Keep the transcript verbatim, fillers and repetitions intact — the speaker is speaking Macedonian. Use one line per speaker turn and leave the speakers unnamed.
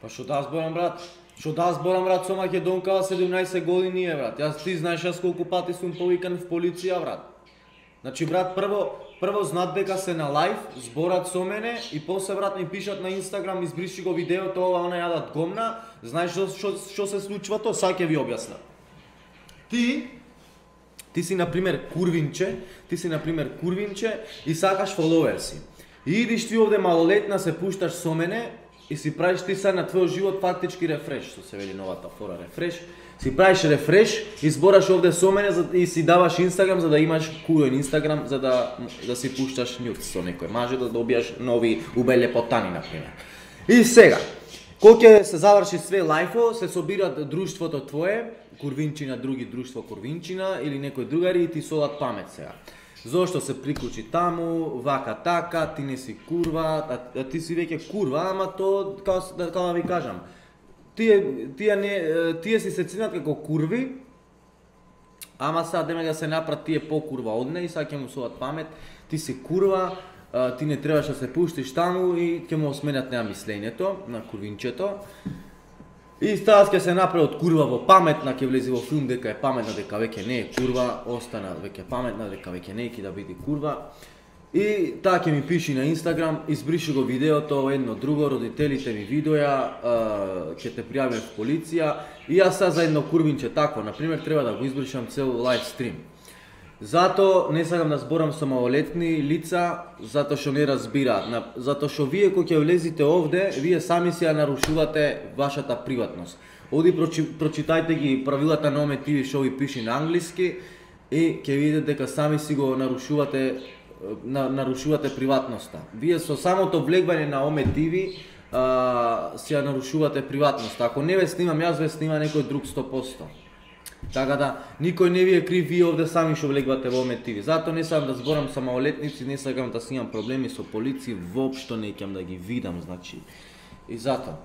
Па што да зборам брат? Што да зборам брат, со Македонка седумнаесет години е брат. Јас ти знаеш јас колку пати сум повикан в полиција брат. Значи брат, прво прво знаат дека се на лајв, зборат со мене и после брат ми пишат на Инстаграм, избриши го видеото, ова она јадат гомна. Знаеш што што што се случува тоа? Сега ќе ви објаснам. Ти ти си на пример курвинче, ти си на пример курвинче и сакаш фоловерси. И идиш ти овде малолетна, се пушташ со мене и си правиш ти сега на твојот живот фактички рефреш, што се вели новата фора рефреш. Си правиш рефреш и збораш овде со мене и си даваш Инстаграм за да имаш куен Инстаграм за да да си пушташ нюц со некој маже да добиеш нови убелепотани на пример. И сега, кога ќе се заврши све лајфо, се собират друштвото твое, курвинчина, други друштво курвинчина или некој другари и ти содат памет сега. Зошто се приклучи таму, вака така, ти не си курва, а, а ти си веќе курва, ама то како како да ви кажам. Тие тие не тие си се ценат како курви. Ама сега деме да се направат тие по-курва од неј и сега ќе му содат памет. Ти си курва, а, ти не требаш да се пуштиш таму и ќе му сменат неа мислењето на курвинчето. И таа ќе се направи од курва во паметна, ќе влезе во филм дека е паметна, дека веќе не е курва, остана веќе паметна, дека веќе не е да биде курва. И таа ќе ми пиши на Инстаграм, избриши го видеото, едно друго, родителите ми видоја, ќе те пријавиме в полиција. И јас сега за едно курвинче такво, например, треба да го избришам цел лайв стрим. Зато не сакам да зборам со малолетни лица, затоа што не разбираат. Затоа што вие кога ќе влезите овде, вие сами си ја нарушувате вашата приватност. Оди прочитајте ги правилата на Оме ти ви што ви пише на англиски и ќе видите дека сами си го нарушувате на, нарушувате приватноста. Вие со самото влегвање на Оме ти ви а, си ја нарушувате приватноста. Ако не ве снимам јас, ве снима некој друг сто проценти. Така да, никој не ви е крив, вие овде сами што влегвате во Оме ти ви. Затоа не сакам да зборам со малолетници, не сакам да снимам проблеми со полиција, воопшто не ќе да ги видам, значи. И затоа.